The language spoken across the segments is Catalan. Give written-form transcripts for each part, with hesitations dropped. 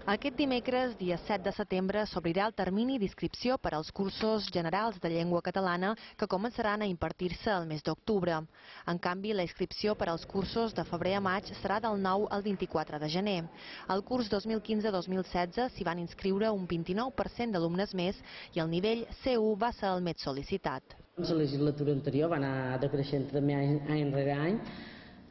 Aquest dimecres, dia 7 de setembre, s'obrirà el termini d'inscripció per als cursos generals de llengua catalana que començaran a impartir-se el mes d'octubre. En canvi, la inscripció per als cursos de febrer a maig serà del 9 al 24 de gener. Al curs 2015-2016 s'hi van inscriure un 29% d'alumnes més i el nivell C1 va ser el més sol·licitat. La legislatura anterior va anar decreixent també any rere any.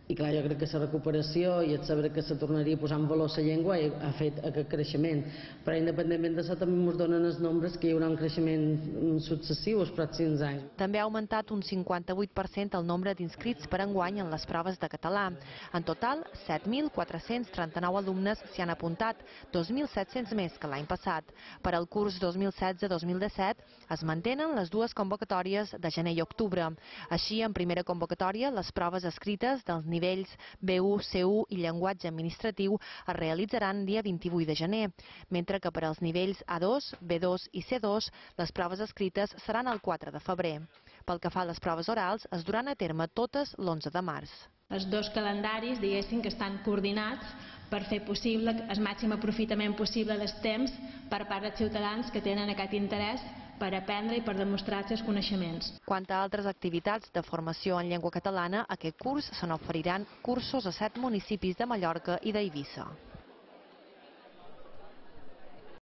I clar, jo crec que la recuperació i el saber que se tornaria a posar en valor la llengua ha fet aquest creixement. Però independentment d'això també ens donen els nombres que hi haurà un creixement successiu els pròxims anys. També ha augmentat un 58% el nombre d'inscrits per enguany en les proves de català. En total, 7.439 alumnes s'hi han apuntat, 2.700 més que l'any passat. Per al curs 2016-2017 es mantenen les dues convocatòries de gener i octubre. Així, en primera convocatòria, les proves escrites dels nivells B1, C1 i llenguatge administratiu es realitzaran dia 28 de gener, mentre que per als nivells A2, B2 i C2 les proves escrites seran el 4 de febrer. Pel que fa a les proves orals, es duran a terme totes l'11 de març. Els dos calendaris, diguéssim, que estan coordinats per fer possible el màxim aprofitament possible dels temps per part dels ciutadans que tenen aquest interès per aprendre i per demostrar els seus coneixements. Quant a altres activitats de formació en llengua catalana, aquest curs se n'oferiran cursos a 7 municipis de Mallorca i d'Eivissa.